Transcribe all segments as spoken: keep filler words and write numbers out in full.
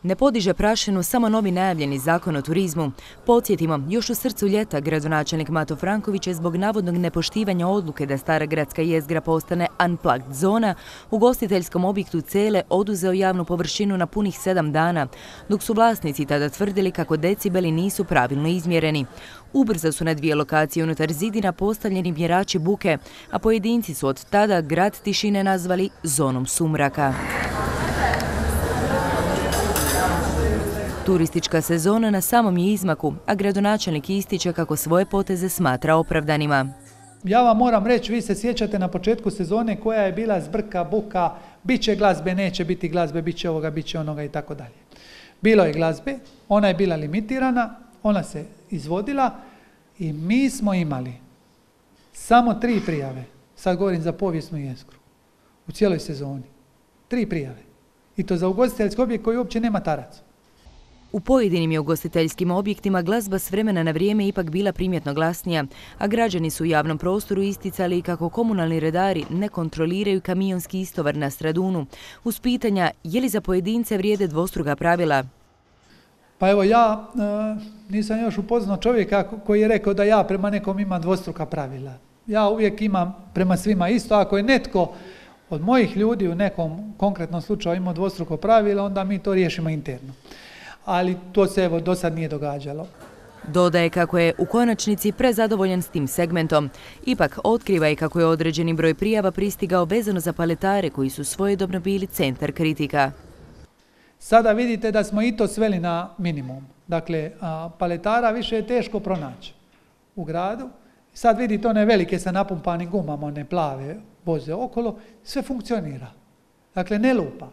Ne podiže prašinu samo novi najavljeni zakon o turizmu. Podsjetimo, još u srcu ljeta gradonačelnik Mato Franković je zbog navodnog nepoštivanja odluke da stara gradska jezgra postane unplugged zona u ugostiteljskom objektu Cele oduzeo javnu površinu na punih sedam dana, dok su vlasnici tada tvrdili kako decibeli nisu pravilno izmjereni. Ubrzo su na dvije lokacije unutar zidina postavljeni mjerači buke, a pojedinci su od tada grad tišine nazvali zonom sumraka. Turistička sezona na samom je izmaku, a gradonačelnik ističe kako svoje poteze smatra opravdanima. Ja vam moram reći, vi se sjećate na početku sezone koja je bila zbrka, buka, bit će glazbe, neće biti glazbe, bit će ovoga, bit će onoga i tako dalje. Bilo je glazbe, ona je bila limitirana, ona se izvodila i mi smo imali samo tri prijave, sad govorim za povijesnu jezgru, u cijeloj sezoni. Tri prijave. I to za ugostiteljski objekt koji uopće nema tarac. U pojedinim je ugostiteljskim objektima glazba s vremena na vrijeme ipak bila primjetno glasnija, a građani su u javnom prostoru isticali kako komunalni redari ne kontroliraju kamionski istovar na Stradunu, uz pitanja je li za pojedince vrijede dvostruka pravila. Pa evo ja e, nisam još upoznao čovjeka koji je rekao da ja prema nekom imam dvostruka pravila. Ja uvijek imam prema svima isto, ako je netko od mojih ljudi u nekom konkretnom slučaju imao dvostruko pravila, onda mi to riješimo interno. Ali to se evo do sad nije događalo. Dodaje kako je u konačnici prezadovoljan s tim segmentom. Ipak otkriva i kako je određeni broj prijava pristigao vezano za paletare koji su svojedobno bili centar kritika. Sada vidite da smo i to sveli na minimum. Dakle, paletara više je teško pronaći u gradu. Sad vidite one velike sa napumpanim gumama, one plave voze okolo, sve funkcionira. Dakle, ne lupa.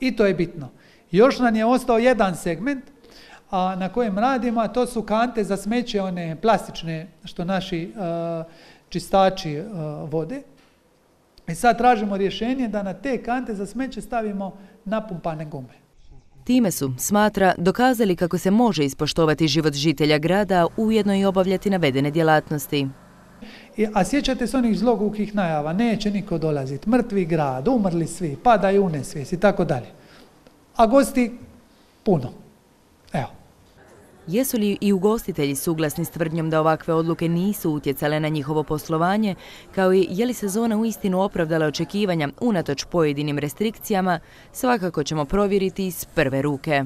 I to je bitno. Još nam je ostao jedan segment a, na kojem radimo, a to su kante za smeće, one plastične što naši a, čistači a, vode. I sad tražimo rješenje da na te kante za smeće stavimo napumpane gume. Time su, smatra, dokazali kako se može ispoštovati život žitelja grada, ujedno i obavljati navedene djelatnosti. I, a sjećate se onih zlogukih najava, neće niko dolaziti, mrtvi grad, umrli svi, padaju u nesvijest i tako dalje. A gosti puno. Evo. Jesu li i ugostitelji suglasni s tvrdnjom da ovakve odluke nisu utjecale na njihovo poslovanje, kao i je li sezona uistinu opravdala očekivanja unatoč pojedinim restrikcijama, svakako ćemo provjeriti iz prve ruke.